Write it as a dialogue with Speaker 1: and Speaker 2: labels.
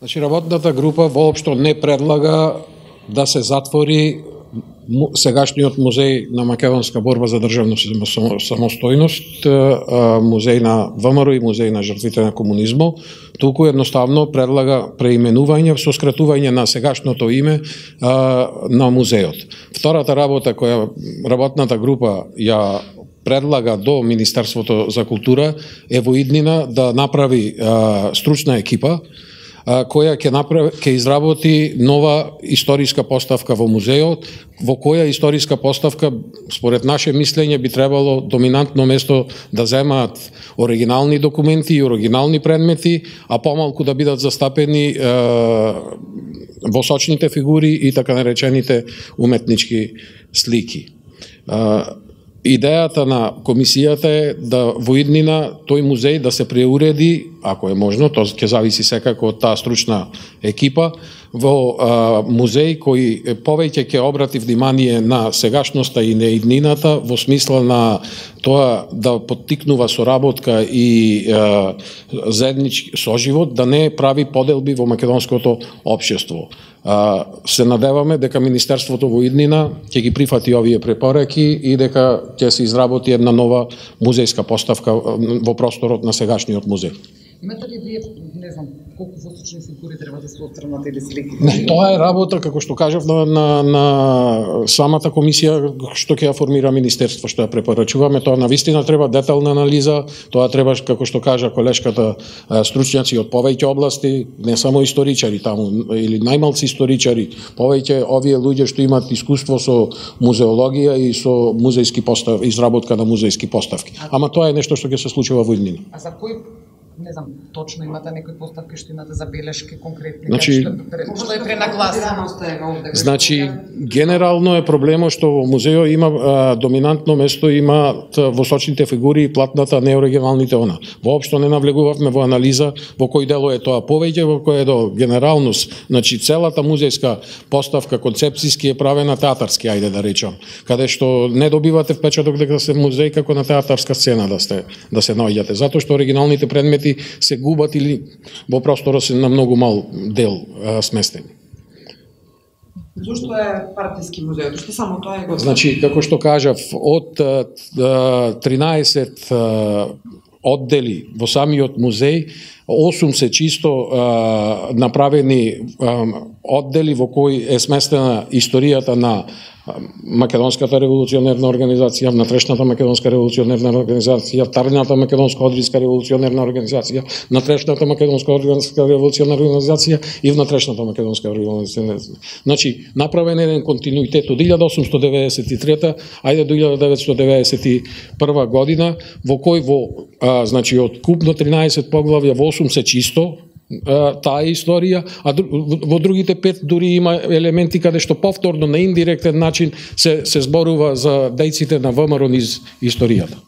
Speaker 1: Значи, работната група воопшто не предлага да се затвори сегашниот музеј на македонска борба за државна самостојност, музеј на ВМРО и музеј на жртвите на комунизмот, туку едноставно предлага преименување со скратување на сегашното име на музеот. Втората работа која работната група ја предлага до Министерството за култура е во иднина да направи стручна екипа која ќе изработи нова историска поставка во музеот, во која историска поставка, според наше мислење, би требало доминантно место да земаат оригинални документи и оригинални предмети, а помалку да бидат застапени восочните фигури и така наречените уметнички слики. Идејата на комисијата е да во иднина тој музеј да се преуреди, ако е можно, тоа ќе зависи секако од таа стручна екипа, во музеј кој повеќе ќе обрати внимание на сегашноста и на иднината, во смисла на тоа да поттикнува соработка и заеднички соживот, да не прави поделби во македонското општество. Се надеваме дека Министерството во иднина ќе ги прифати овие препораки и дека ќе се изработи една нова музејска поставка во просторот на сегашниот музеј.
Speaker 2: Имате ли вие, не знам, колку восочни фигури треба да се отстранат или слики?
Speaker 1: Не, тоа е работа, како што кажав, на самата комисија што ќе ја формира Министерство, што ја препорачуваме. Тоа навистина треба детална анализа, тоа треба, како што кажа колешката, стручњаци од повеќе области, не само историчари таму, или најмалци историчари, повеќе овие луѓе што имаат искуство со музеологија и со музејски изработка на музејски поставки. Ама тоа е нешто што ќе се случува во иднина.
Speaker 2: А за кој, не знам, точно имате некои поставки што имате забелешки конкретни,
Speaker 1: значи,
Speaker 2: што е пренагласено?
Speaker 1: Значи, генерално е проблемот што во музејот има доминантно место имаат восочните фигури и платната, не оригиналните она. Воопшто не навлегувавме во анализа во кој дело е тоа повеќе, во кој е до генералност. Значи, целата музејска поставка концепцијски е правена театарски, ајде да речам, каде што не добивате впечаток дека се музеј како на театарска сцена да се наоѓате, затоа што оригиналните предмети се губат или во просторот се на многу мал дел сместени.
Speaker 3: Зошто е партиски музеј? Што само тоа е готово?
Speaker 1: Значи, како што кажав, од 13 оддели во самиот музеј, 8 се чисто направени оддели во кои е сместена историјата на Македонската револуционерна организација, внатрешната македонска револуционерна организација, втората македонска одринска револуционерна организација, внатрешната македонска одринска револуционерна организација и внатрешната македонска револуционерна. Значи, направен еден континуитет од 1893 ајде до 1991 година, во кој значи од купно 13 поглавја во 8 се чисто таа историја, а во другите 5 дури има елементи каде што повторно на индиректен начин се зборува за дејците на ВМРО низ историјата.